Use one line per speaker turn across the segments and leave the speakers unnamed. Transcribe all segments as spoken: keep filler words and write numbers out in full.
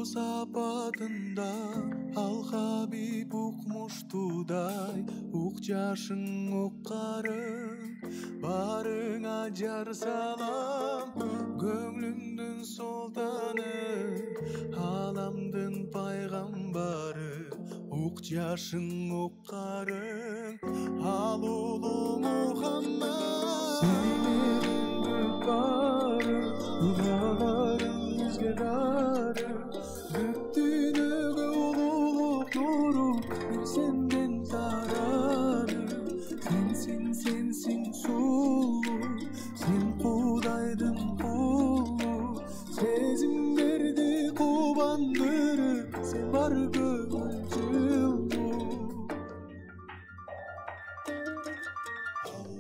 Сапатында ал Хабиб укмуштудай ук жашың уккарың барыңа жар салам көңлүмдүн султаны аламдын пайгамбары ук жашың уккарың ал улуу Мухаммад сенин бары дуаларың бизге дары senden zararı sensin sensin sulu sen Kudaydın kulu sezimlerdi kubandırıp sen var gönlümcü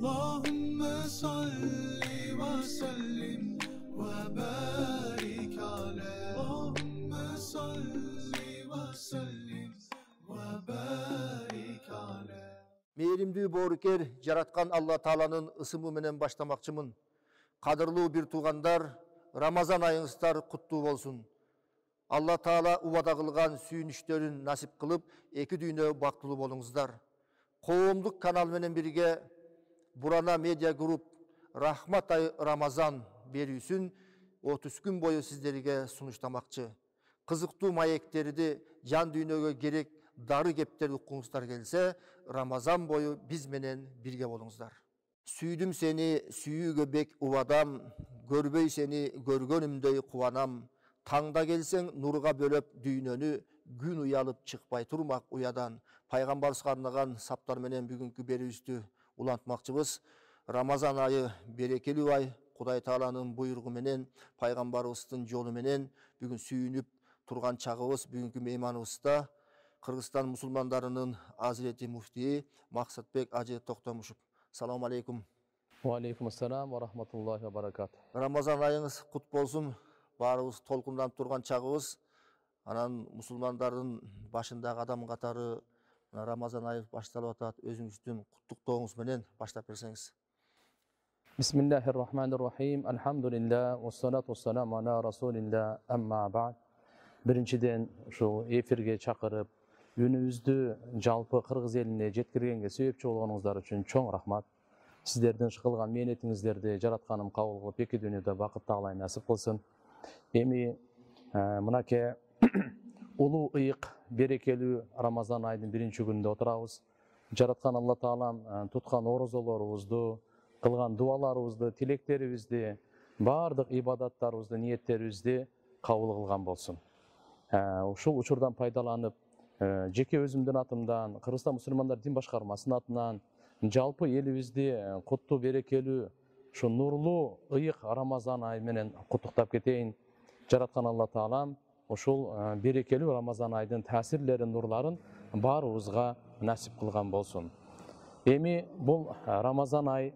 Allahümme salli ve sellim ve barik ala Allahümme salli ve sellim
Мээримдүү боорукер жараткан Алла Тааланын ысымы менен баштамакчымын. Кадырлуу бир туугандар, Рамазан айыңыздар куттуу болсун. Алла Таала убада кылган сүйүнүчтөрүн насип кылып, эки дүйнө бактылуу болуңуздар. Коомдук канал менен бирге Бурана медиа групп Рахмат ай Рамазан берүүсүн отуз күн бою сиздерге сунуштамакчы. Кызыктуу маектерди жан дүйнөгө керек дары кептерди уккуңуздар келсе, Рамазан бою биз менен бирге болуңуздар. Сүйдүм сени, сүйүүгө бек убадам, көрбөй сени көргөнүмдөй кубанам. Таңда келсең нурга бөлөп дүйнөнү, күн уялып чыкпай турмак уядан. Пайгамбарыбызга арнаган саптар менен бүгүнкү берүүбүздү улантмакчыбыз. Рамазан айы берекелүү ай, Кудай Тааланын буйругу менен, пайгамбарыбыздын жолу менен бүгүн сүйүнүп турган чагыбыз бүгүнкү мейманыбызда Кыргызстан мусулмандарынын Азирети муфтии Максатбек Ажы Токтомушев. Салам алейкум.
Ва алейкум ассалам ва рахматуллахи ва баракатуh.
Рамазан айыңыз кут болсун. Баарыбыз толкунданып турган чагыбыз. Анан мусулмандардын башындагы адам катары Рамазан айы башталып атат. Өзүңүздүн куттуктооңуз менен баштап берсеңиз.
Бисмиллахир-рахманир-рахим. Алхамдулиллах ва салату ва саламу ала расулиллах. Амма ба'д. Биринчиден ушул эфирге чакырып, үнүбүздү жалпы кыргыз элине жеткиргенге себепчи болгонуңуздар үчүн чоң рахмат. Сиздердин кылган мээнетиңиздерди жаратканым кабыл кылып, эки дүйнөдө бакыт Таалай насип кылсын. Эми мынакей улуу ыйык, берекелүү Рамазан айынын биринчи күнүндө отурабыз. Жараткан Алла Таалам туткан орозолорубузду, кылган дуаларыбызды, тилектерибизди, баардык ибадаттарыбызды, ниеттерибизди кабыл кылган болсун. Ушул учурдан пайдаланып, жеке өзүмдүн атымдан, Кыргызстан мусулмандар дин башкармасынын атынан жалпы элибизди куттуу берекелүү ушу нурлуу ыйык Рамазан айы менен куттуктап кетейин. Жараткан Алла Таалам ушул берекелүү Рамазан айдын таасирлерин, нурларын баарыбызга насип кылган болсун. Эми бул Рамазан ай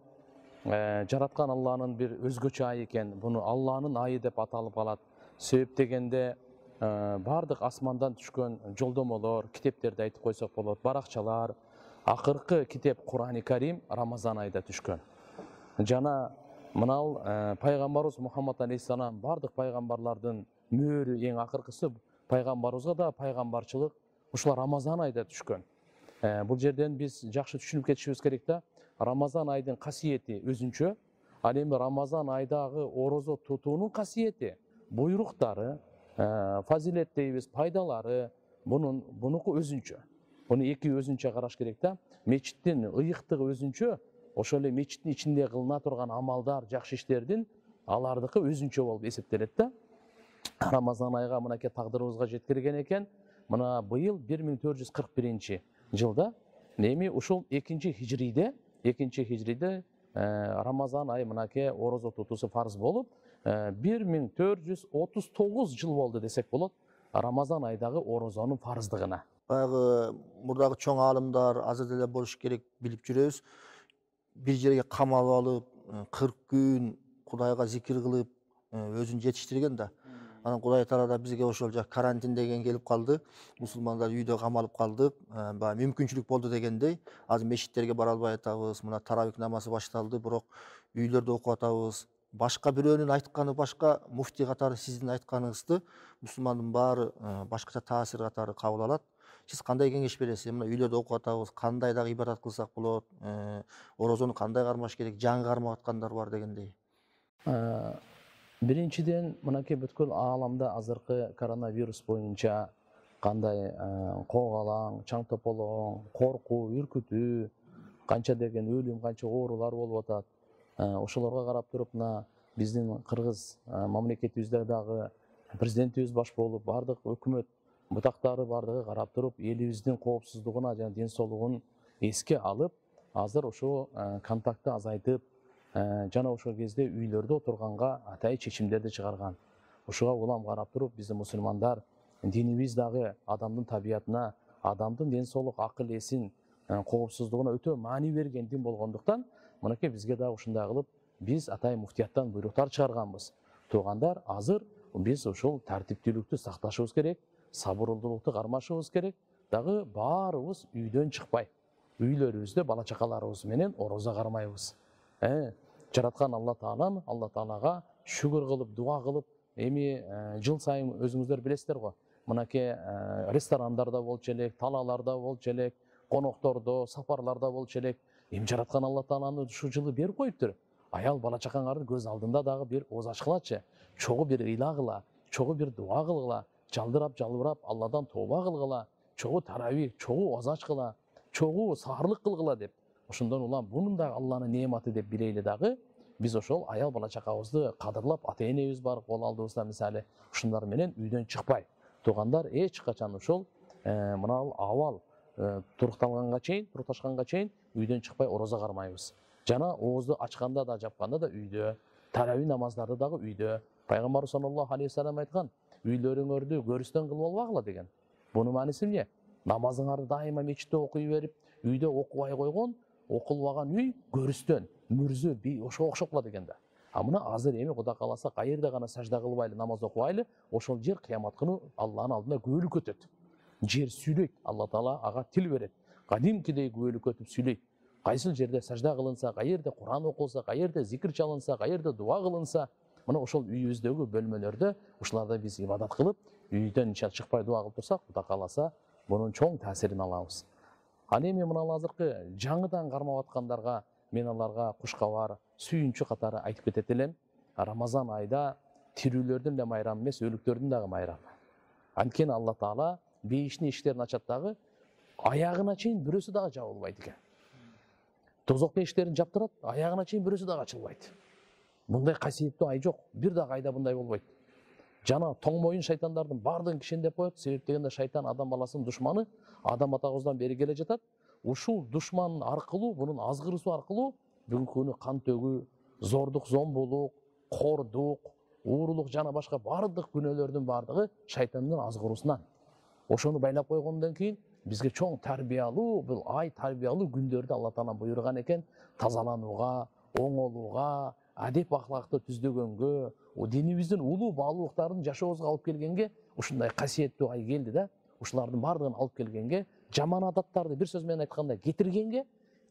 жараткан Алланын бир өзгөчө айы экен. Буну Алланын айы деп аталып калат. Себеп дегенде бардык асмандан түшкөн жолдомолор, китептерди айтып койсок болот, баракчалар, акыркы китеп Кур'ани Карим Рамазан айында түшкөн. Жана мынал пайгамбарыбыз Мухаммад алейхиссалам бардык пайгамбарлардын мөөрү эң акыркысы, пайгамбарыбызга да пайгамбарчылык ушул Рамазан айында түшкөн. Бул жерден биз жакшы түшүнүп кетишибиз керек да, Рамазан айдын касиети өзүнчө, ал эми Рамазан айдагы орозо тутуунун касиети, буйруктары, фазилет дейбиз, пайдалары, бунун бунуку өзүнчө. Буну эки өзүнчө караш керек да. Мечиттин ыйыктыгы өзүнчө, ошол эле мечиттин ичинде кылына турган амалдар, жакшы иштердин алардыкы өзүнчө болуп эсептелет да. Рамазан айга мынакей тагдырыбызга жеткирген экен. Мына быйыл бир миң төрт жүз кырк биринчи жылда, эми ушул экинчи хижриде, экинчи хижриде Рамазан айы мынакей орозо тутуусу фарз болуп, бир миң төрт жүз отуз тогуз жыл болду десек болот Рамазан айдагы орозонун фарздыгына.
Баягы мурдагы чоң аалымдар азыр деле болуш керек билип жүрөбүз. Бир жерге камалып алып, кырк күн Кудайга зикир кылып өзүн жетиштирген да. Анан Кудай Таала да бизге ошол жак карантин деген келип калды. Мусулмандар үйдө камалып калдык. Баягы мүмкүнчүлүк болду дегендей. Азыр мешиттерге бара албай атабыз. Мына таравих намазы башталды, бирок үйлөрдө окуп атабыз. Башка бирөөнүн айтканы башка, муфтий катары сиздин айтканыңызды мусулмандын баары башкача таасир катары кабыл алат. Сиз кандай кеңеш бересиз? Мына үйлөрдө окуп атабыз, кандай дагы ибадат кылсак болот, орозону кандай кармаш керек, жаңы кармап аткандар бар дегендей.
Биринчиден, мынакей бүткүл ааламда азыркы коронавирус боюнча кандай коогалаң, чаң тополоң, коркуу, үркүтүү, канча деген өлүм, канча оорулар болуп атат. Ошолорго карап туруп, мына биздин Кыргыз мамлекетибизде дагы президентибиз баш болуп, бардык өкмөт бутактары бардыгы карап туруп, элибиздин коопсуздугуна жана ден соолугун эске алып, азыр ошо контактты азайтып, жана ошол кезде үйлөрдө отурганга атайын чечимдерди чыгарган. Ошого улам карап туруп, биздин мусулмандар динибиз дагы адамдын табиятына, адамдын ден соолук, акыл эсин коопсуздугуна өтө маани берген дин болгондуктан, мынакей бизге дагы ушундай кылып, биз атайын муфтияттан буйруктар чыгарганбыз. Туугандар, азыр биз ошол тартиптүүлүктү сакташыбыз керек, сабырдуулукту кармашыбыз керек, дагы баарыбыз үйдөн чыкпай, үйлөрүбүздө бала чакаларыбыз менен орозо кармайбыз. Э, жараткан Алла Тааланы, Алла Таалага шүгүр кылып, дуа кылып, эми жыл сайын өзүңүздөр билесиздер го. Мынакей ресторандарда болчу элек, талааларда болчу элек, коноктордо, сапарларда болчу элек. Эми жараткан Алла Тааланы ушул жылы берип коюптур. Аял бала чакаңардын көз алдында дагы бир ооз ачкылачы, чогуу бир ыйла кыла, чогуу бир дуа кылгыла, жалдырап жалбырап Алладан тооба кылгыла, чогуу таравих, чогуу ооз ачкыла, чогуу саарлык кылгыла деп. Ошондон улам бунун да Алланын неаматы деп билейли дагы. Биз ошол аял бала чакабызды кадырлап, ата-энебиз бар кол алдыбызда мисалы, ушундар менен үйдөн чыкпай. Туугандар, эч качан ошол мына абал турукталганга чейин, турукташканга чейин үйдөн чыкпай орозо кармайбыз. Жана оозду ачканда да, жапканда да үйдө, таравих намаздарды дагы үйдө. Пайгамбар саллаллаху алейхи вассалам айткан, үйлөрүңөрдү көрүстөн кылып албагыла деген. Бунун мааниси эмне? Намазыңарды дайыма мечитте окуй берип, үйдө окубай койгон, окулбаган үй көрүстөн, мүрзө, би ошого окшоп калат экен да. А мына азыр эми Кудай кааласа кайерде гана сажда кылбайлы, намаз окубайлы, ошол жер кыямат күнү Алланын алдында күбөлүк өтөт. Жер сүйлөйт, Алла Таала ага тил берет. Кадимкидей күбөлүк өтүп сүйлөйт. Кайсыл жерде сажда кылынса, кайерде Куран окулса, кайерде зикир чалынса, кайерде дуа кылынса, мына ошол үйүбүздөгү бөлмөлөрдө ушуларда биз ибадат кылып, үйдөн чыкпай дуа кылып турсак, Кудай кааласа мунун чоң таасирин алабыз. Ал эми мына азыркы жаңыдан кармап аткандарга мен аларга куш кабар, сүйүнчү катары айтып кетет элем. Рамазан айда тирүүлөрдүн да майрамы эмес, өлүктөрдүн дагы майрамы. Анткени Алла Таала бейиштин эшиктерин ачат дагы, аягына чейин бирөөсү дагы жабылбайт экен. Тозоктун эшиктерин жаптырат, аягына чейин бирөөсү дагы ачылбайт. Мындай касиеттүү ай жок, бир дагы айда мындай болбойт. Жана тоң моюн шайтандардын бардыгын кишендеп коет. Себеп дегенде шайтан адам баласынын душманы, адам атабыздан бери келе жатат. Ушул душман аркылуу, бунун азгырысуу аркылуу бүгүнкү күнү кан төгүү, зордук, зомбулук, кордук, уурулук жана башка бардык күнөөлөрдүн бардыгы шайтандын азгыруусунан. Ошону байлап койгондон кийин бизге чоң тарбиялуу, бул ай тарбиялуу күндөрдү Алла Таала буйруган экен, тазаланууга, оңолууга, адеп ахлакты түздөгөнгө, динибиздин улуу баалуулуктарын жашообузга алып келгенге ушундай касиеттүү ай келди да, ушулардын бардыгын алып келгенге, жаман адаттарды бир сөз менен айтканда кетиргенге,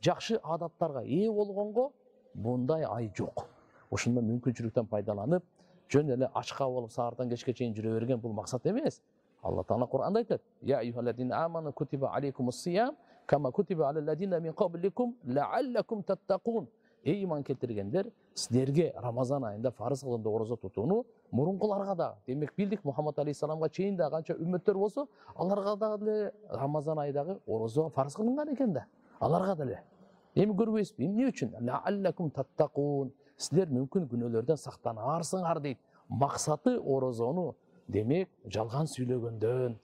жакшы адаттарга ээ болгонго мындай ай жок. Ошондон мүмкүнчүлүктөн пайдаланып, жөн эле ачка болуп саардан кечке чейин жүрө берген бул максат эмес. Алла Таала Кур'анда айтат: "Я айюхаллазина аману кутиба алейкумус-сиям кама кутиба алаллазина мин qablikum la'allakum tattaqun." Эй иман келтиргендер, силерге Рамазан айында фарыз кылынды орозо тутууну мурункуларга да, демек билдик Мухаммад алейхиссаламга чейин да канча үммөттөр болсо, аларга дагы Рамазан айдагы орозо фарыз кылынган экен да. Аларга деле. Эми көрбөйсүзбү? Эмне үчүн? La'allakum tattaqun. Силер мүмкүн күнөөлөрдөн сактанарсыңар дейт. Максаты орозону демек жалган сүйлөгөндөн,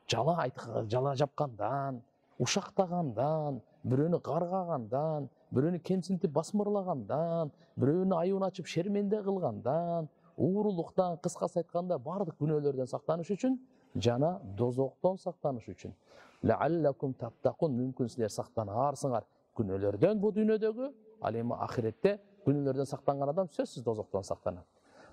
жала айткан, жала жапкандан, ушактагандан, бирөөнү каргагандан, бирөөнү кемсинтип басмырлагандан, бирөөнү айыбын ачып шерменде кылгандан, уурулуктан, кыскасы айтканда бардык күнөөлөрдөн сактаныш үчүн жана дозоктон сактаныш үчүн. La'allakum tattaqun, мүмкүн силер сактанарсыңар күнөөлөрдөн бу дүйнөдөгү, ал эми ахиретте күнөөлөрдөн сактанган адам сөзсүз дозоктон сактанат.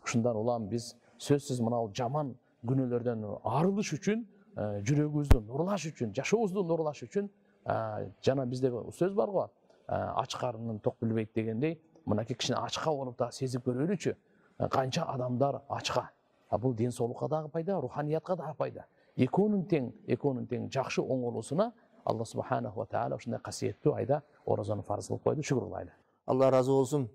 Ушундан улам биз сөзсүз мынау жаман күнөөлөрдөн арылыш үчүн, жүрөгүбүздү нурлаш үчүн, жашообузду нурлаш үчүн жана бизде сөз бар го, ач карынын ток билбейт дегендей, мынакей кичине ачка болуп да сезип көрөлүчү. Канча адамдар ачка. А бул ден соолукка дагы пайда, руханиятка дагы пайда. Экөөнүн тең, экөөнүн тең жакшы оңолуусуна Алла субханаху ва таала ушундай касиеттүү айда орозону фарз кылып койду. Шүгүр кылайлы.
Алла разы болсун.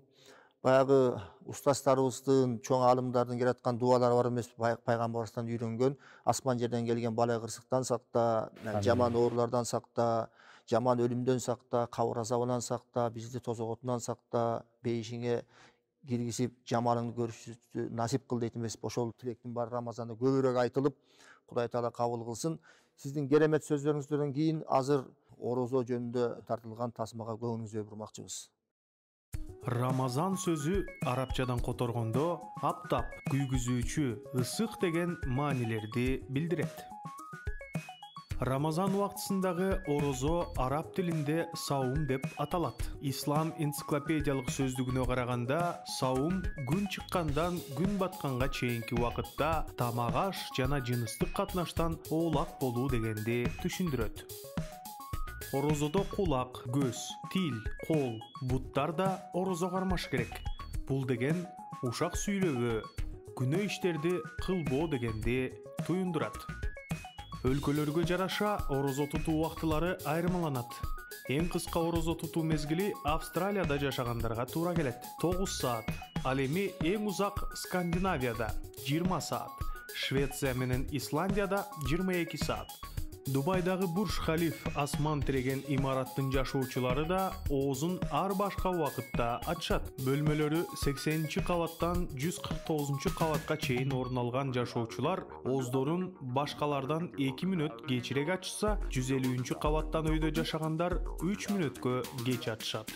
Баягы устаздарыбыздын, чоң алымдардын келаткан дуалары бар эмес, пайгамбарыбыздан үйрөнгөн, асман жерден келген бала кырсыктан сакта, жаман оорулардан сакта, жаман өлүмдөн сакта, кабыр азабынан сакта, бизди тозоготунан сакта, бейишиңе киргизип, жамалыңды көрүшүбүздү насип кыл дейт эмес. Ошол тилектин баары Рамазанда көбүрөөк айтылып, Кудай Таала кабыл кылсын. Сиздин керемет сөздөрүңүздөн кийин азыр орозо жөнүндө тартылган тасмага көңүлүңүздү бурмакчыбыз.
Рамазан сөзү арабчадан которгондо аптап, күйгүзүүчү, ысык деген маанилерди билдирет. Рамазан убактысындагы орозо араб тилинде саум деп аталат. Ислам энциклопедиялык сөздүгүнө караганда, саум күн чыккандан күн батканга чейинки убакытта тамак аш жана жыныстык катнаштан оолак болуу дегенди түшүндүрөт. Орозодо кулак, көз, тил, кол, буттар да орозо кармаш керек. Бул деген ушак сүйлөбөө, күнөө иштерди кылбоо дегенди туюндурат. Өлкөлөргө жараша орозо тутуу убактылары айырмаланат. Эң кыска орозо тутуу мезгили Австралияда жашагандарга туура келет. тогуз саат. Ал эми эң узак Скандинавияда жыйырма саат. Швеция менен Исландияда жыйырма эки саат. Дубайдагы Бурж Халиф асман тиреген имараттын жашоочулары да оозун ар башка убакытта ачышат. Бөлмөлөрү сексенинчи кабаттан жүз кырк тогузунчу кабатка чейин орун алган жашоочулар ооздорун башкалардан эки мүнөт кечирээк ачышса, жүз элүүнчү кабаттан өйдө жашагандар үч мүнөткө кеч ачышат.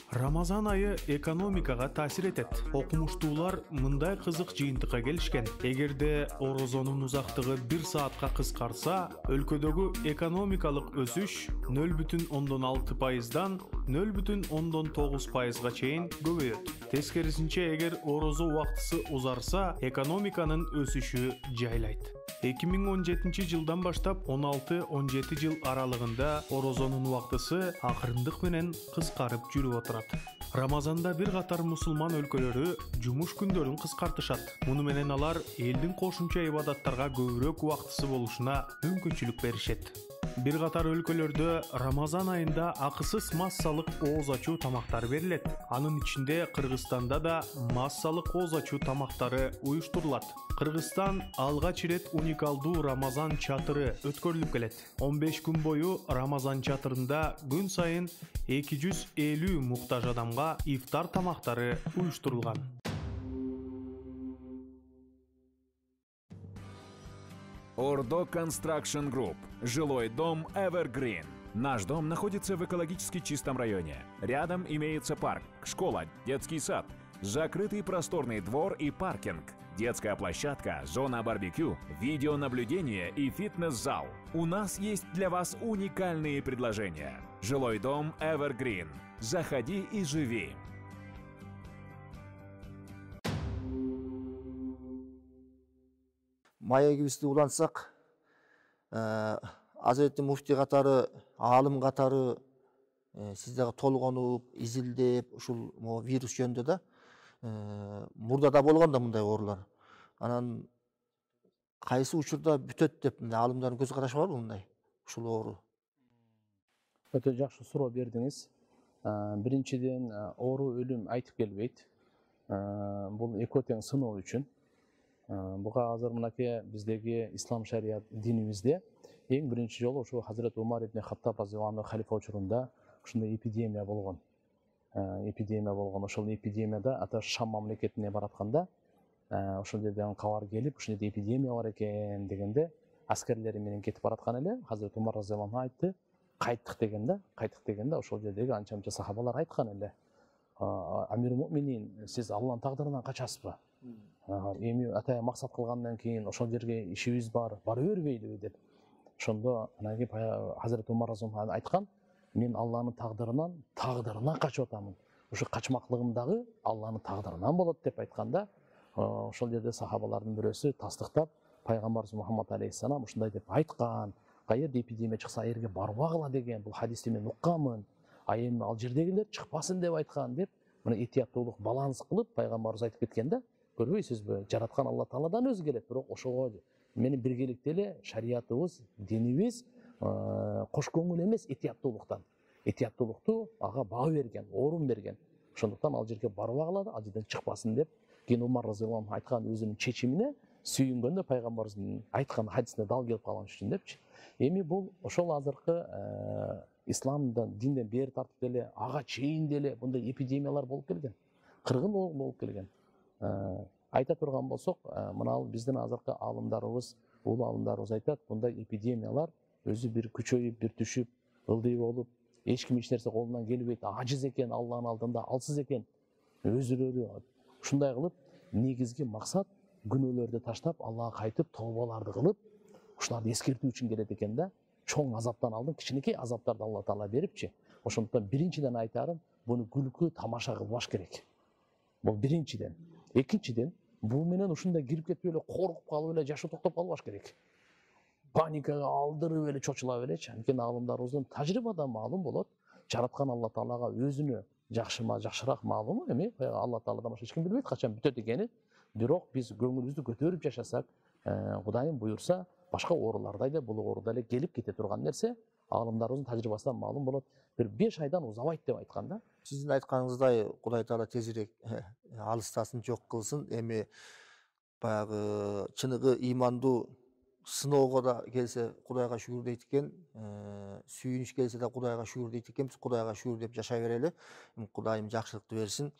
Рамазан айы экономикага таасир этет. Окумуштуулар мындай кызык жыйынтыкка келишкен. Эгерде орозонун узактыгы бир саатка кыскарса, өлкөдөгү экономикалык өсүш нөл бүтүн ондон алты пайыздан нөл бүтүн ондон тогуз пайызга чейин көбөйөт. Тескерисинче, эгер орозо убактысы узарса, экономиканын өсүшү жайлайт. эки миң он жетинчи жылдан баштап он алты он жети жыл аралыгында орозонун убактысы акырындык менен кыскарып жүрүп отурат. Рамазанда бир катар мусулман өлкөлөрү жумуш күндөрүн кыскартышат. Муну менен алар элдин кошумча ибадаттарга көбүрөөк убактысы болушуна мүмкүнчүлүк беришет. Бир катар өлкөлөрдө Рамазан айында акысыз массалык ооз ачуу тамактар берилет. Анын ичинде Кыргызстанда да массалык ооз ачуу тамактары уюштурулат. Кыргызстан алгач ирет уникалдуу Рамазан чатыры өткөрүлүп келет. он беш күн бою Рамазан чатырында күн сайын эки жүз элүү муктаж адамга ифтар тамактары уюштурулган.
Ордо Construction Group. Жилой дом Evergreen. Наш дом находится в экологически чистом районе. Рядом имеется парк, школа, детский сад, закрытый просторный двор и паркинг, детская площадка, зона барбекю, видеонаблюдение и фитнес-зал. У нас есть для вас уникальные предложения. Жилой дом Evergreen. Заходи и живи.
Маегибизди улантсак, Азирети муфти катары, аалым катары сиз дагы толгонуп, изилдеп, ушул вирус жөнүндө да мурда да болгон да мындай оорулар. Анан кайсы учурда бүтөт деп аалымдардын көз карашы барбы мындай ушул оору?
Өтө жакшы суроо бердиңиз. Биринчиден, оору өлүм айтып келбейт. Бул экөө тең сыноо үчүн. Буга азыр мынакей биздеги ислам шарият динибизде эң биринчи жолу ошо Хазрет Умар ибн Хаттаб разыйаллаху анху халифа учурунда ушундай эпидемия болгон. Эпидемия болгон. Ошол эпидемияда ата Шам мамлекетине баратканда, ошол жерден кабар келип, ушундай эпидемия бар экен дегенде, аскерлери менен кетип бараткан эле. Хазрет Умар разыйаллаху анху айтты, кайттык дегенде, кайттык дегенде ошол жердеги анча-мынча сахабалар айткан эле. Амир муъминин, сиз Алланын тагдырынан качасызбы? Эми атая максат кылгандан кийин ошол жерге ишибиз бар, бара бербейлиби деп. Ошондо анан Хазрет Умар разыйаллаху анху айткан, мен Алланын тагдырынан, тагдырынан качып атамын. ушу качмаклыгым дагы Алланын тагдырынан болот деп айтканда, ошол жерде сахабалардын бирөөсү тастыктап, пайгамбарыбыз Мухаммад алейхиссалам ушундай деп айткан, каерде эпидемия чыкса ал жерге барбагыла деген, бул хадисти мен укканмын, а эми ал жердегилер чыкпасын деп айткан деп, мына этияттуулук баланс кылып пайгамбарыбыз айтып кеткен да. Көрбөйсүзбү? Жараткан Алла Тааладан өзү келет, бирок ошого менин биргеликте эле шариятыбыз, динибиз кош көңүл эмес этияттуулуктан. Этияттуулукту ага баа берген, орун берген. Ошондуктан ал жерге барбагыла, ал жерден чыкпасын деп, кийин Умар разыйаллаху анху айткан өзүнүн чечимине сүйүнгөндө пайгамбарыбыздын айткан хадисине дал келип калган үчүн депчи. Эми бул ошол азыркы исламдан, динден бери тартып деле ага чейин деле мындай эпидемиялар болуп келген. Кыргын болуп келген. Айта турган болсок, мына биздин азыркы аалымдарыбыз, улуу аалымдарыбыз айтат, мындай эпидемиялар өзү бир күчөйүп, бир түшүп, ылдый болуп, эч ким эч нерсе колунан келбейт, ажиз экен, Алланын алдында алсыз экен, өзүлөрү ушундай кылып, негизги максат күнөөлөрдү таштап, Аллага кайтып, тообаларды кылып, ушуларды эскертүү үчүн келет экен да. Чоң азаптан алдын кичинекей азаптарды Алла Таала берипчи. Ошондуктан биринчиден айтарым, буну күлкү, тамаша кылбаш керек. Бул биринчиден. Экинчиден, бул менен ушундай кирип кетип эле коркуп калып эле жашоо токтоп калбаш керек. Паникага алдырып эле чочула белечи. Анткени аалымдарыбыздын тажрыйбадан маалым болот, жараткан Алла Таалага өзүнө жакшыма жакшыраак маалым, эми Алла Тааладан башка эч ким билбейт качан бүтөт экенин. Бирок биз көңүлүбүздү көтөрүп жашасак, Кудайым буйрса, башка оорулардай да бул оору деле келип кете турган нерсе, аалымдарыбыздын тажрыйбасынан маалым болот. Бир беш айдан узабайт деп айткан да.
Сиздин айтканыңыздай Кудай Таала тезирээк алыстасын, жок кылсын. Эми баягы чыныгы имандуу сыноого да келсе Кудайга шүгүр дейт экен, сүйүнүч келсе да Кудайга шүгүр дейт экенбиз. Кудайга шүгүр деп жашай берели. Кудайым жакшылыкты берсин.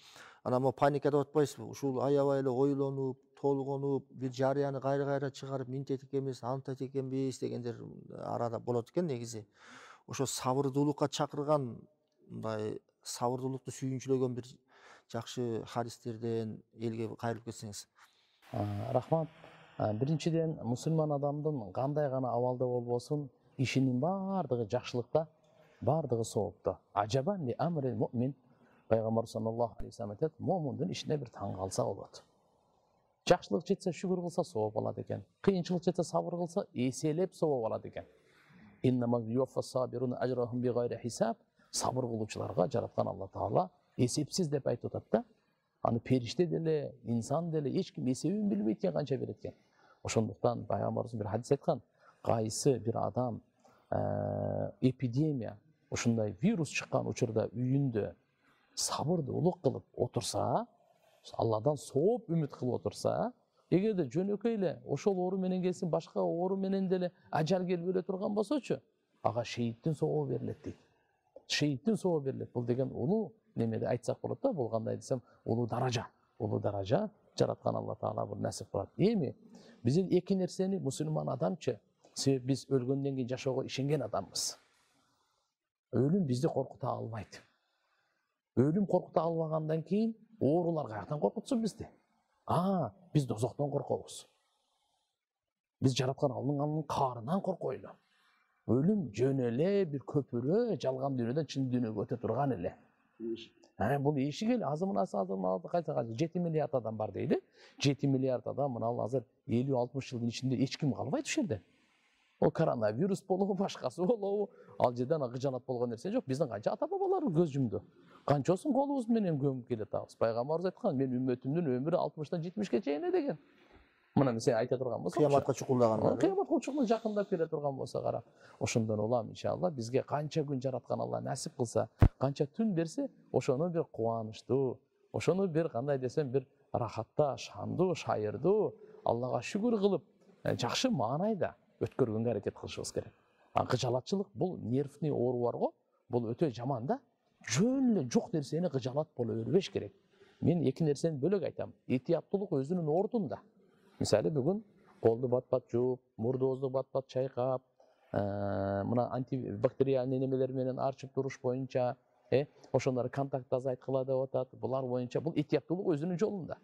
Анан мо паника деп атпайсызбы? Ушул аябай эле ойлонуп, толгонуп, бир жарыяны кайра-кайра чыгарып, минтет экенбиз, антет экенбиз дегендер арада болот экен негизи. Ошо сабырдуулукка чакырган, мындай сабырдуулукту сүйүнчүлөгөн бир жакшы хадистерден элге кайрылып кетсеңиз.
Рахмат. Биринчиден, мусулман адамдын кандай гана абалда болбосун, ишинин бардыгы жакшылыкта, бардыгы соопта. Ажабан ли амрил муъмин. Пайгамбар саллаллаху алейхи ва саллям айтат, момундун ишине бир таң калса болот. Жакшылык жетсе шүгүр кылса сооп алат экен. Кыйынчылык жетсе сабыр кылса эселеп сооп алат экен. Иннама юффас сабируна ажрахум бигайри хисаб. Сабыр кылуучуларга жараткан Алла Таала эсепсиз деп айтып атат да. Аны периште деле, инсан деле эч ким эсебин билбейт экен канча берет экен. Ошондуктан пайгамбарыбыз бир хадис айткан, кайсы бир адам эпидемия, ушундай вирус чыккан учурда үйүндө сабырдуулук кылып отурса, Алладан сооп үмүт кылып отурса, эгерде жөнөкөй эле ошол оору менен келсин, башка оору менен деле ажал келип өлө турган болсочу, ага шейиттин сообу берилет дейт. Шейиттин сообу берилет. Бул деген улуу немеде айтсак болот да, бул кандай десем, улуу даража. Улуу даража жараткан Алла Таала бул насип кылат. Эми биз эки нерсени мусулман адамчы, себеп биз өлгөндөн кийин жашоого ишенген адамбыз. Өлүм бизди коркута албайт. Өлүм коркута албагандан кийин оорулар каяктан коркутсун бизди? А, биз дозоктон коркобуз. Биз жараткан Алланын каарынан коркойлу. Өлүм жөн эле бир көпүрө жалган дүйнөдөн чын дүйнөгө өтө турган эле. Ана бул эшик эле азыр мына азыр кайса кайса жети миллиард адам бар дейли. жети миллиард адам мына азыр элүү алтымыш жылдын ичинде эч ким калбайт ушул жерде. Ол коронавирус болобу, башкасы болобу, ал жерден кыжалат болгон нерсе жок. Биздин канча ата бабаларыбыз көз жумду. Канчоосун колубуз менен көмүп келатабыз. Пайгамбарыбыз айткан, мен үммөтүмдүн өмүрү алтымыштан жетимишке чейин деген. Мына сен айта турган болсо,
кыяматка чукулдагандар.
Кыяматка чукулдап жакындап келе турган болсо кара. Ошондон улам иншалла бизге канча күн жараткан Алла насип кылса, канча түн берсе, ошону бир кубанычтуу, ошону бир кандай десем, бир рахатта, шандуу, шайырдуу, Аллага шүгүр кылып, жакшы маанайда өткөргөнгө аракет кылышыбыз керек. А кыжалатчылык бул нервный оору бар го, бул өтө жаман да. Жөн эле жок нерсени кыжалат боло бербеш керек. Мен эки нерсени бөлөк айтам. Этияттуулук өзүнүн ордунда. Мисалы бүгүн колду бат-бат жууп, мурдубузду бат-бат чайкап, мына антибактериальный немелер менен арчып туруш боюнча, э, ошондор контакт азайткыла деп атат. Булар боюнча бул этияттуулук өзүнүн жолунда.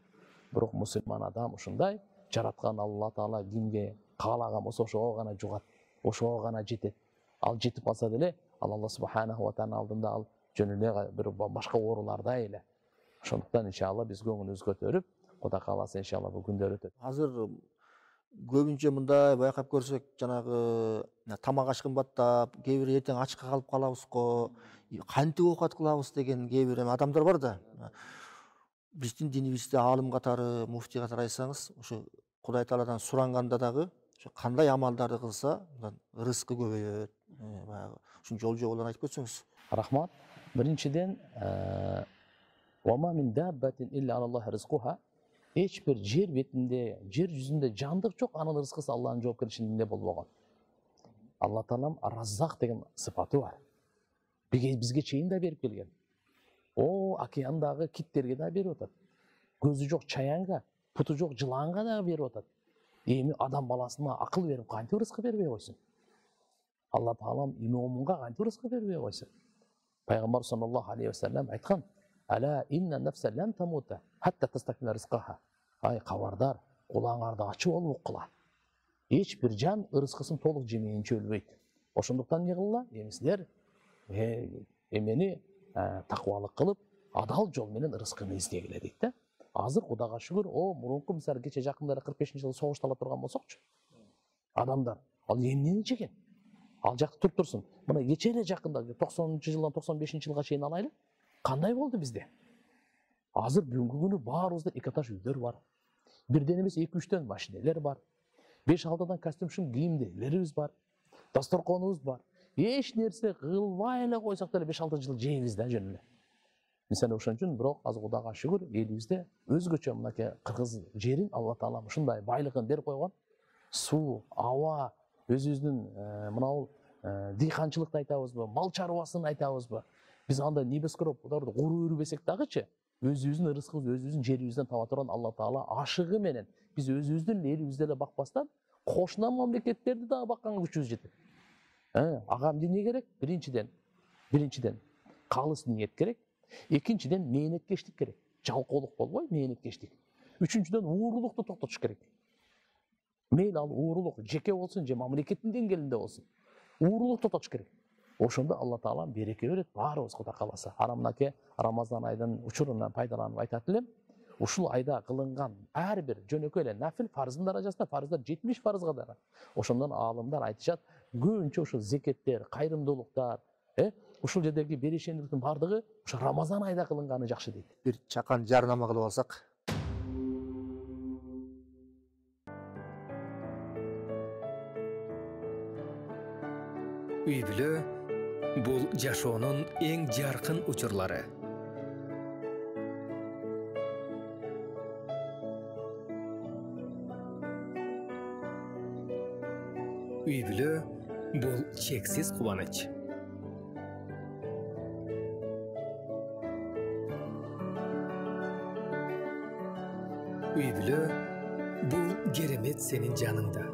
Бирок мусулман адам ушундай жараткан Алла Таала кимге каалаган болсо ошого гана жугат, ошого гана жетет. Ал жетип калса деле, ал Алла субханаху ва таала алдында ал жөн эле бир башка ооруларда эле. Ошондуктан иншалла биз көңүлүбүздү көтөрүп, Кудай кааласа иншалла бул күндөр өтөт.
Азыр көбүнчө мындай байкап көрсөк, жанагы тамак аш кымбаттап, кээ бир эртең ачка калып калабыз го, кантип оокат кылабыз деген кээ бир адамдар бар да. Биздин динибизде аалым катары, муфтий катары айтсаңыз, ошо Кудай Тааладан суранганда дагы ошо кандай амалдарды кылса, рызкы көбөйөт. Баягы ушун жол жоболорун айтып кетсеңиз.
Рахмат. Биринчиден, вама мин даббатин илля алаллахи ризкуха. Эч бир жер бетинде, жер жүзүндө жандык жок, анын рызкысы Аллахтын жоопкерчилигинде болбогон. Алла Таалам Раззак деген сыпаты бар. Бизге чейин да берип келген. О, океандагы киттерге да берип атат. Көзү жок чаянга, путу жок жыланга да берип атат. Эми адам баласына акыл берип кантип рызкы бербей койсун? Алла Таалам имомунга кантип рызкы бербей койсун? Пайгамбар саллаллаху алейхи ва саллям айткан: "Ала инна нафса лан тамута хатта тастакмила ризкаха." Ай кабардар, кулаңарды ачып алып уккыла. Эч бир жан рызкысын толук жемейинче өлбөйт. Ошондуктан эмне кылгыла? Эми силер эмени такыбалык кылып, адал жол менен рызкыны издегиле дейт да. Азыр Кудайга шүгүр, о, мурунку мисалы кече жакында кырк бешинчи жылы согушта ала турган болсокчу. Адамдар ал эмнени жеген? Ал жакта туруп турсун. Мына кече эле жакында токсонунчу жылдан токсон бешинчи жылга чейин алайлы. Кандай болду бизде? Азыр бүгүнкү күнү баарыбызда эки этаж үйлөр бар. Бирден эмес эки үчтөн машинелер бар. беш алтыдан костюм кийимдерибиз бар. Дасторконубуз бар. Эч нерсе кылбай эле койсок деле беш алты жыл жейбиз да жөн эле. Мисалы ошон үчүн бирок азыр Кудайга шүгүр, элибизде өзгөчө мынакей кыргыз жерин Алла Таалам ушундай байлыгын берип койгон. Суу, аба, өзүбүздүн мынау дыйканчылыкты айтабызбы, мал чарбасын айтабызбы? Биз андай небескоропторду куруу өрбөсөк дагычы, өзүбүздүн рызкыбызды өзүбүздүн жерибизден таба турган Алла Таала ашыгы менен биз өзүбүздүн элибизди эле бакпастан, кошуна мамлекеттерди дагы бакканга күчүбүз жетет. Ага эмне керек? Биринчиден, биринчиден калыс ниет керек. Экинчиден мээнеткештик керек. Жалкоолук болбой, мээнеткештик. Үчүнчүдөн уурулукту токтотуш керек. Мейли ал уурулук жеке болсун же мамлекеттин деңгээлинде болсун. Уурулукту токтотуш керек. Ошондо Алла Таала береке берет, баарыбыз Кудай кааласа. Ара мынакей Рамазан айдын учурунан пайдаланып айтат элем. Ушул айда кылынган ар бир жөнөкөй эле нафил фарздын даражасында фарздар жетимиш фарзга да. Ошондон аалымдар айтышат, көбүнчө ушул зекеттер, кайрымдуулуктар, э, ушул жердеги берешендиктин бардыгы ошо Рамазан айда кылынганы жакшы дейт.
Бир чакан жарнама кылып алсак.
Үй бүлө бул жашоонун эң жаркын учурлары. Үй бүлө бул чексиз кубаныч. Үй бүлө бул керемет сенин жаныңда.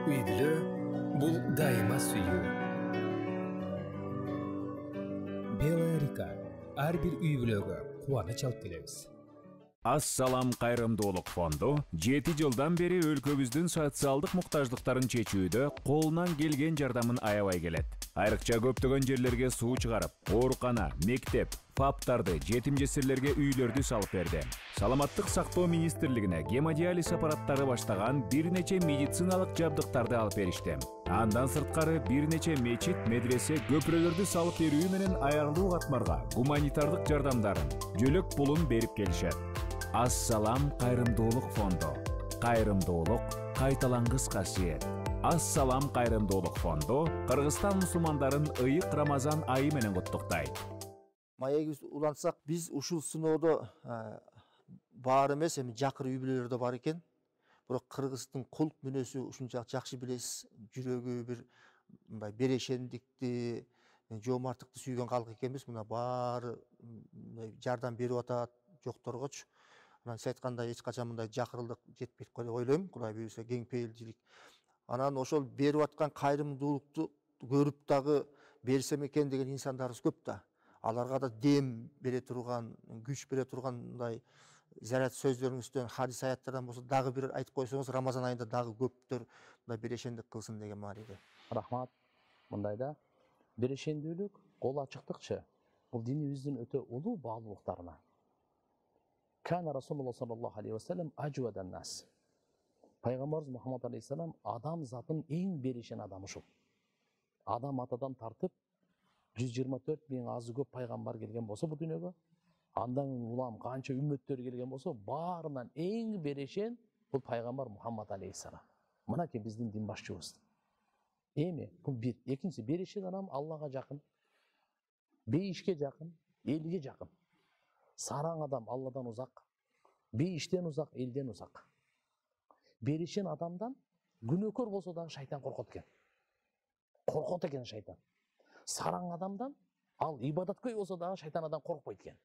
Үй бүлө бул дайыма сүйүү. Белая река ар бир үй бүлөгө кубаныч алып келебиз.
Ассалам кайрымдуулук фонду жети жылдан бери өлкөбүздүн социалдык муктаждыктарын чечүүдө колунан келген жардамын аябай келет. Айрыкча көптөгөн жерлерге суу чыгарып, оорукана, мектеп, фаптарды, жетим жесирлерге үйлөрдү салып берди. Саламаттык сактоо министрлигине гемодиализ аппараттары баштаган бир нече медициналык жабдыктарды алып беришти. Андан сырткары бир нече мечит, медресе, көпүрөлөрдү салып берүү менен аялуу катмарга гуманитардык жардамдарын, жөлөк пулун берип келишет. Ассалам кайрымдуулук фонду. Кайрымдуулук кайталангыс касиет. Ассалам кайрымдуулук фонду Кыргызстан мусулмандарын ыйык Рамазан айы менен куттуктайт.
Маегибиз улантсак, биз ушул сыноодо бар эмес, эми жакыр үй бүлөлөрдө бар экен. Бирок кыргыздын кулк мүнөзү ушунчалык жакшы билесиз, жүрөгү бир мындай берешендикти, жоомарттыкты сүйгөн калк экенбиз. Мына баары жардам берип атат жокторгочу. Анан сиз айткандай эч качан мындай жакырылык жетпейт го деп ойлойм. Кудай буйруса кең пейилчилик. Анан ошол берип аткан кайрымдуулукту көрүп дагы берсем экен деген инсандарыбыз көп да. Аларга да дем бере турган, күч бере турган мындай зарят сөздөрүңүздөн, хадис аяттардан болсо дагы бир айтып койсоңуз, Рамазан айында дагы көптөр мына берешендик кылсын деген мааниде.
Рахмат. Мындайда берешендүүлүк, кол ачыктыкчы бул динибиздин өтө улуу баалуулуктарына. Кана Расулуллах саллаллаху алейхи ва саллям ажвадан нас. Пайгамбарыбыз Мухаммад алейхиссалам адам затын эң берешен адам ушул. Адам атадан тартып жүз жыйырма төрт миң азы көп пайгамбар келген болсо бул дүйнөгө, андан улам канча үммөттөр келген болсо, баарынан эң берешен бул пайгамбар Мухаммад алейхиссалам. Мынакей биздин дин башчыбыз. Эми бул бир. Экинчиси, берешен адам Аллага жакын, бейишке жакын, элге жакын. Сараң адам Алладан узак, бейиштен узак, элден узак. Берешен адамдан күнөөкөр болсо дагы шайтан коркот экен. Коркот экен шайтан. Сараң адамдан ал ибадаткөй болсо дагы шайтан адам коркпойт экен.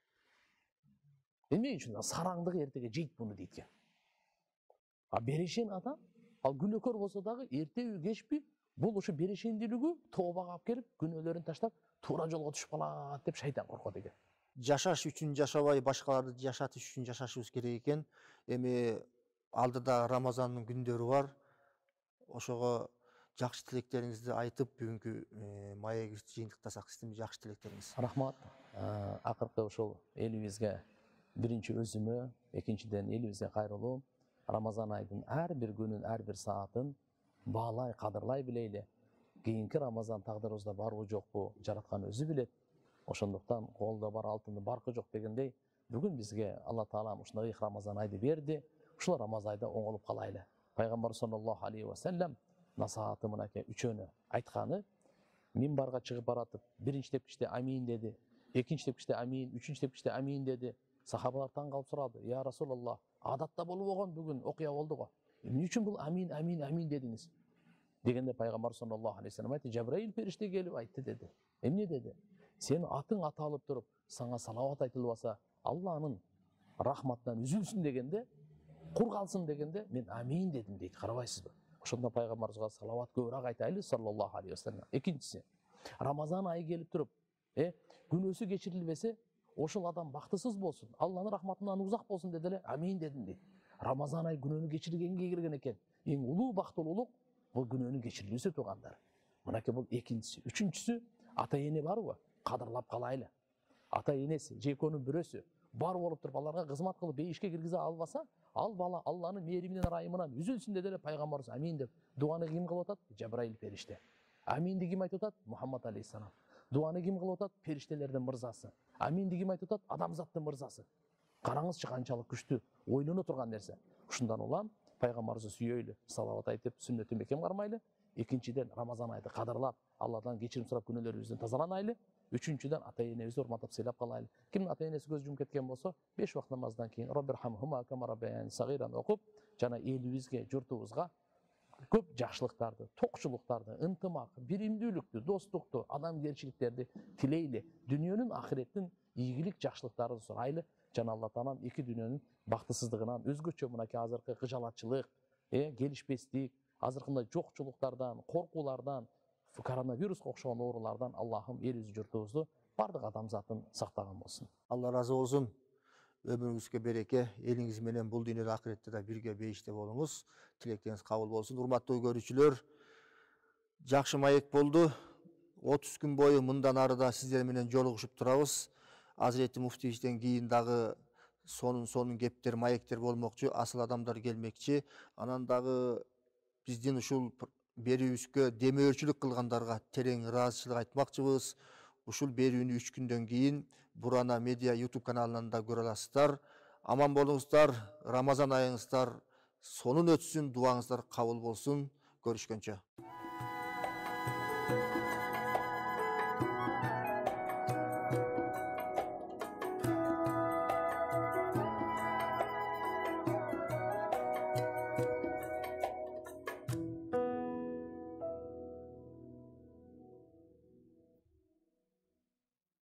Эмне үчүн? Сараңдыгы эртеге жейт буну дейт экен. А берешен адам ал күнөөкөр болсо дагы эртеби кечпи бул ушу берешендүүлүгү тообага алып келип, күнөөлөрүн таштап, туура жолго түшүп калат деп шайтан коркот экен.
Жашаш үчүн жашабай, башкаларды жашатыш үчүн жашашыбыз керек экен. Эми алдыда Рамазандын күндөрү бар. Ошого жакшы тилектериңизди айтып, бүгүнкү маегибизди жыйынтыктасак, сиздин жакшы тилектериңиз.
Рахмат. Акыркы ушул элибизге биринчи өзүмө, экинчиден элибизге кайрылуу, Рамазан айдын ар бир күнүн, ар бир саатын баалай, кадырлай билейли. Кийинки Рамазан тагдырыбызда барбы жокпу, жараткан өзү билет. Ошондуктан колдо бар алтындын баркы жок дегендей, бүгүн бизге Алла Таалам ушундай Рамазан айды берди. Ушул Рамазан айда оңолуп калайлы. Пайгамбар саллаллаху алейхи ва саллям насааты мынакей үчөөнү айтканы, минбарга чыгып баратып, биринчи тепкичте амин деди, экинчи тепкичте амин, үчүнчү тепкичте амин деди. Сахабалар таң калып сурады: "Я Расулаллах, адатта болуп болгон бүгүн окуя болду го. Эмне үчүн бул амин, амин, амин дедиңиз?" Дегенде Пайгамбар саллаллаху алейхи ва саллям айтты: "Жабраил периште келип айтты" деди. Эмне деди? "Сен атың аталып туруп, сага салават айтылбаса, Алланын рахматынан үзүлсүн дегенде, кур калсын дегенде, мен амин дедим" дейт. Карабайсызбы? Ошондо Пайгамбарыбызга салават көбүрөөк айтайлы саллаллаху алейхи ва саллям. Экинчиси, Рамазан айы келип туруп, э, күнөөсү кечирилбесе, ошол адам бактысыз болсун, Алланын рахматынан узак болсун деди эле, амин дедим дейт. Рамазан айы күнөөнү кечиргенге келген экен. Эң улуу бактылуулук бул күнөөнүн кечирилүүсү туугандар. Мынакей бул экинчиси. Үчүнчүсү, ата эне барбы? Кадырлап калайлы. Ата энеси, же экөөнүн бирөөсү бар болуп туруп аларга кызмат кылып бейишке киргизе албаса, ал бала Алланын мээриминен, ырайымынан үзүлсүн деди эле Пайгамбарыбыз амин деп. Дуаны ким кылып атат? Жабраил периште. Аминди ким айтып атат? Мухаммад алейхиссалам. Дуаны ким кылып атат? Периштелердин мырзасы. Аминди ким айтып атат? Адамзаттын мырзасы. Караңызчы канчалык күчтүү, ойлоно турган нерсе. Ушундан улам Пайгамбарыбызды сүйөйлү, салават айтып, сүннөтүн бекем кармайлы. Экинчиден, Рамазан айды кадырлап, Алладан кечирим сурап күнөөлөрүбүздөн тазаланайлы. Үчүнчүдөн, ата энебизди урматтап сыйлап калайлы. Кимдин ата энеси көз жумуп кеткен болсо, беш убакыт намаздан кийин Роббирхамхума кама раббаяни сагиран окуп, жана элибизге, журтубузга көп жакшылыктарды, токчулуктарды, ынтымак, биримдүүлүктү, достукту, адамгерчиликтерди тилейли. Дүйнөнүн, ахиреттин ийгилик жакшылыктарын сурайлы. Жана Алла Таалам эки дүйнөнүн бактысыздыгынан, өзгөчө мынакей азыркы кыжалатчылык, э, келишпестик, азыркындай жокчулуктардан, коркуулардан, коронавируска окшогон оорулардан Аллахым элибизди, журтубузду, бардык адамзатын сактаган болсун.
Алла разы болсун. Өмүрүңүзгө береке, элиңиз менен бул дүйнөдө акыретте да бирге бейиште болуңуз. Тилектериңиз кабыл болсун. Урматтуу көрүүчүлөр, жакшы маек болду. отуз күн бою мындан арыда сиздер менен жолугушуп турабыз. Азирети муфтийибизден кийин дагы сонун сонун кептер, маектер болмокчу, асыл адамдар келмекчи. Анан дагы биздин ушул берүүбүзгө демөөрчүлүк кылгандарга терең ыраазычылык айтмакчыбыз. Ушул берүүнү үч күндөн кийин Бурана медиа YouTube каналынан да көрө аласыздар. Аман болуңуздар, Рамазан айыңыздар сонун өтсүн, дуаңыздар кабыл болсун. Көрүшкөнчө.